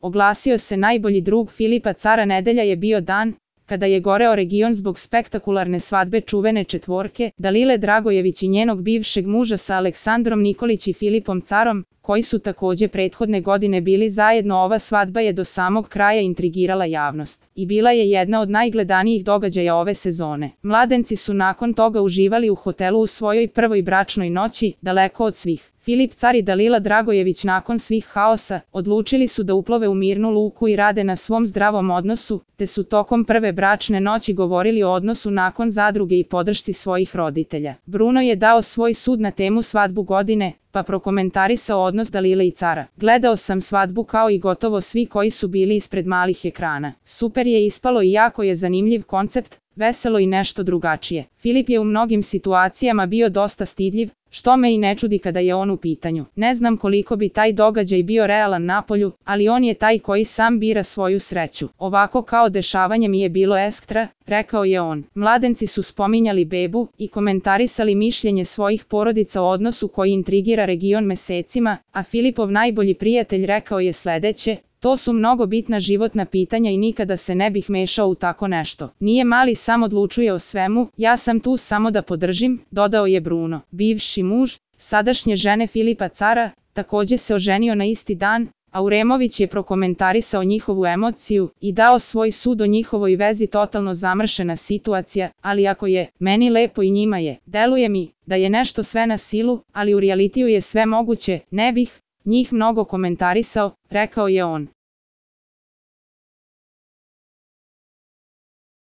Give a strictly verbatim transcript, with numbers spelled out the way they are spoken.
oglasio se najbolji drug Filipa Cara. Nedelja je bio dan kada je goreo region zbog spektakularne svadbe čuvene četvorke, Dalile Dragojević i njenog bivšeg muža sa Aleksandrom Nikolić i Filipom Carom, koji su takođe prethodne godine bili zajedno. Ova svadba je do samog kraja intrigirala javnost i bila je jedna od najgledanijih događaja ove sezone. Mladenci su nakon toga uživali u hotelu u svojoj prvoj bračnoj noći, daleko od svih. Filip Car i Dalila Dragojević nakon svih haosa odlučili su da uplove u mirnu luku i rade na svom zdravom odnosu, te su tokom prve bračne noći govorili o odnosu nakon zadruge i podršci svojih roditelja. Bruno je dao svoj sud na temu svadbu godine, pa prokomentarisao odnos Dalile i Cara. Gledao sam svadbu kao i gotovo svi koji su bili ispred malih ekrana. Super je ispalo i jako je zanimljiv koncept, veselo i nešto drugačije. Filip je u mnogim situacijama bio dosta stidljiv, što me i ne čudi kada je on u pitanju. Ne znam koliko bi taj događaj bio realan napolju, ali on je taj koji sam bira svoju sreću. Ovako kao dešavanje mi je bilo ekstra, rekao je on. Mladenci su spominjali bebu i komentarisali mišljenje svojih porodica o odnosu koji intrigira region mesecima, a Filipov najbolji prijatelj rekao je sledeće: to su mnogo bitna životna pitanja i nikada se ne bih mešao u tako nešto. Nije mali sam odlučuje o svemu, ja sam tu samo da podržim, dodao je Bruno. Bivši muž sadašnje žene Filipa Cara takođe se oženio na isti dan, a Uremović je prokomentarisao njihovu emociju i dao svoj sud o njihovoj vezi. Totalno zamršena situacija, ali ako je meni lepo i njima je, deluje mi da je nešto sve na silu, ali u realitiju je sve moguće, ne bih njih mnogo komentarisao, rekao je on.